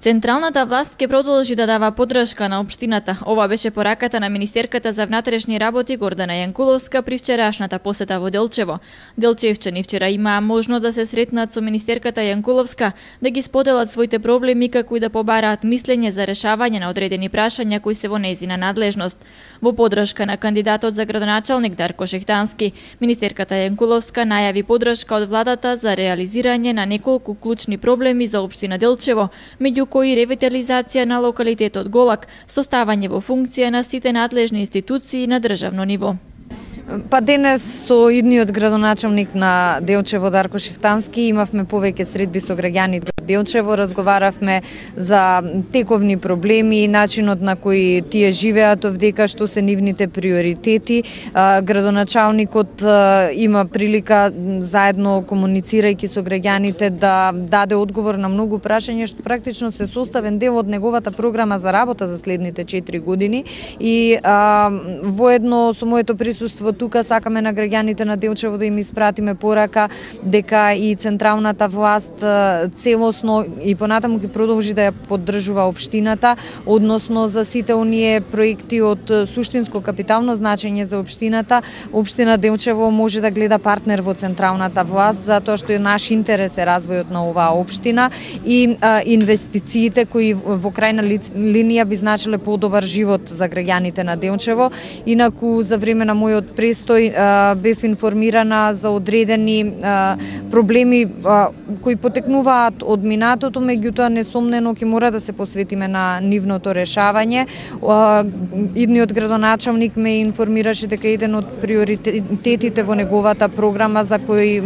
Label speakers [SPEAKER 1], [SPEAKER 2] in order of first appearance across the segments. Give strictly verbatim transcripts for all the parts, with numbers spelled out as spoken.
[SPEAKER 1] Централната власт ќе продолжи да дава поддршка на општината. Ова беше пораката на министерката за внатрешни работи Гордана Јанкуловска при вчерашната посета во Делчево. Делчевчани вчера имаа можност да се сретнат со министерката Јанкуловска, да ги споделат своите проблеми, како и да побараат мислење за решавање на одредени прашања кои се во нејзина надлежност. Во поддршка на кандидатот за градоначалник Дарко Шехтански, министерката Јанкуловска најави поддршка од владата за реализирање на неколку клучни проблеми за општина Делчево, меѓу кои ревитализација на локалитетот Голак, составање во функција на сите надлежни институции на државно ниво.
[SPEAKER 2] Па денес со идниот градоначалник на Делчево Дарко Шехтански имавме повеќе средби со граѓаните од Делчево, разговаравме за тековни проблеми, начинот на кој тие живеат овдека, што се нивните приоритети. Градоначалникот има прилика заедно комуницирајќи со граѓаните да даде одговор на многу прашања што практично се составен дел од неговата програма за работа за следните четири години и а, воедно со моето присуство тука сакаме на граѓаните на Делчево да им испратиме порака дека и централната власт целосно и понатаму ќе продолжи да ја поддржува општината, односно за сите оние проекти од суштинско капитално значење за општината. Општина Делчево може да гледа партнер во централната власт, затоа што е наш интерес е развојот на оваа општина и а, инвестициите кои во крајна линија би значиле подобар живот за граѓаните на Делчево. Инаку за време на мојот престој а, бев информирана за одредени а, проблеми а, кои потекнуваат од минатото, меѓутоа несомнено ќе мора да се посветиме на нивното решавање. А, идниот градоначалник ме информираше дека еден од приоритетите во неговата програма за кој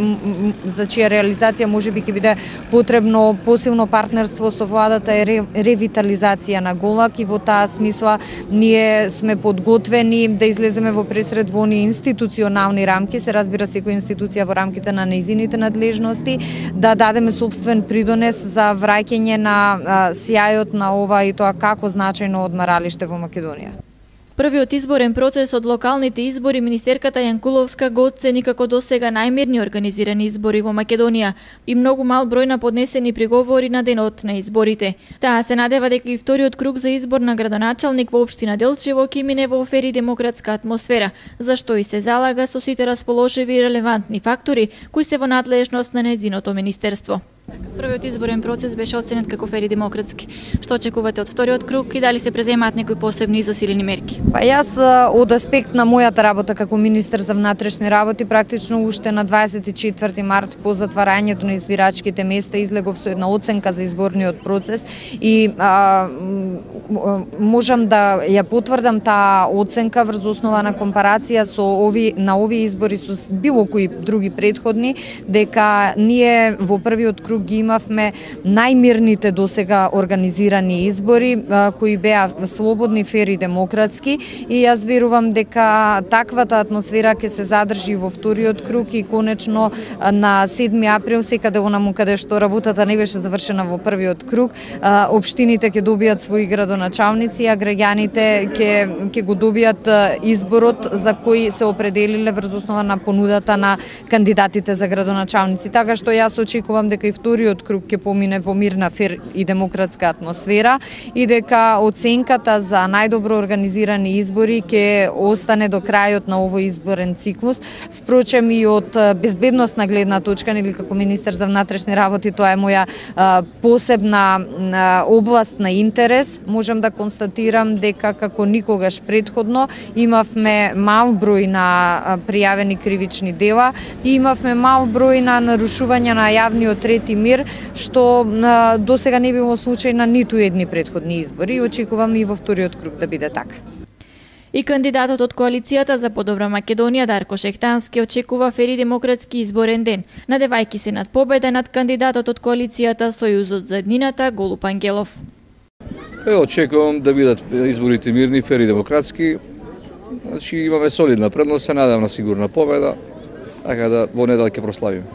[SPEAKER 2] за чија реализација можеби ќе биде потребно посилно партнерство со владата е ревитализација на Голак и во таа смисла ние сме подготвени да излеземе во пресред во оние институционални рамки, се разбира секоја институција во рамките на нејзините надлежности, да дадеме собствен придонес за враќање на а, сјајот на ова и тоа како значајно одмаралиште во Македонија.
[SPEAKER 1] Првиот изборен процес од локалните избори министерката Јанкуловска го оцени како досега најмирни организирани избори во Македонија и многу мал број на поднесени приговори на денот на изборите. Таа се надева дека и вториот круг за избор на градоначалник во општина Делчево ќе мине во фер и демократска атмосфера, зашто и се залага со сите расположиви и релевантни фактори кои се во надлежност на нејзиното министерство. Првиот изборен процес беше оценет како фер и демократски. Што очекувате од вториот круг и дали се преземаат некои посебни засилени мерки?
[SPEAKER 2] Па јас од аспект на мојата работа како министер за внатрешни работи практично уште на дваесет и четврти март по затварањето на избирачките места излегов со една оценка за изборниот процес и а, можам да ја потврдам таа оценка врз основа на компарација со ови на овие избори со било кои други претходни, дека ние во првиот круг ги имавме најмирните досега организирани избори кои беа слободни, фер и демократски и јас верувам дека таквата атмосфера ќе се задржи во вториот круг и конечно на седми април секаде онаму каде што работата не беше завршена во првиот круг, општините ќе добијат своји градоначалници, а граѓаните ќе ќе го добијат изборот за кој се определиле врз основа на понудата на кандидатите за градоначалници. Така што јас очекувам дека и вториот круг ќе помине во мирна, фер и демократска атмосфера и дека оценката за најдобро организирани избори ќе остане до крајот на овој изборен циклус. Впрочем и од безбедносна гледна точка, нели како министер за внатрешни работи, тоа е моја а, посебна а, област на интерес. Можам да констатирам дека како никогаш претходно имавме мал број на пријавени кривични дела и имавме мал број на нарушувања на јавниот ред и мир, што досега не било случај на ниту едни претходни избори и очекувам и во вториот круг да биде така.
[SPEAKER 1] И кандидатот од коалицијата за подобра Македонија Дарко Шехтански очекува фер и демократски изборен ден, надевајќи се над победа над кандидатот од коалицијата Сојузот за еднината Голуп Ангелов.
[SPEAKER 3] Е, очекувам да бидат изборите мирни, фер и демократски. Значи имаме солидна предност, се надевам на сигурна победа, така да во недела ќе прославиме.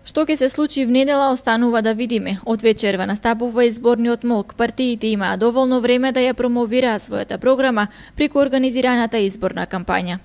[SPEAKER 1] Што ќе се случи в недела останува да видиме. Од вечерва настапува изборниот молк. Партиите имаа доволно време да ја промовираат својата програма преку организираната изборна кампања.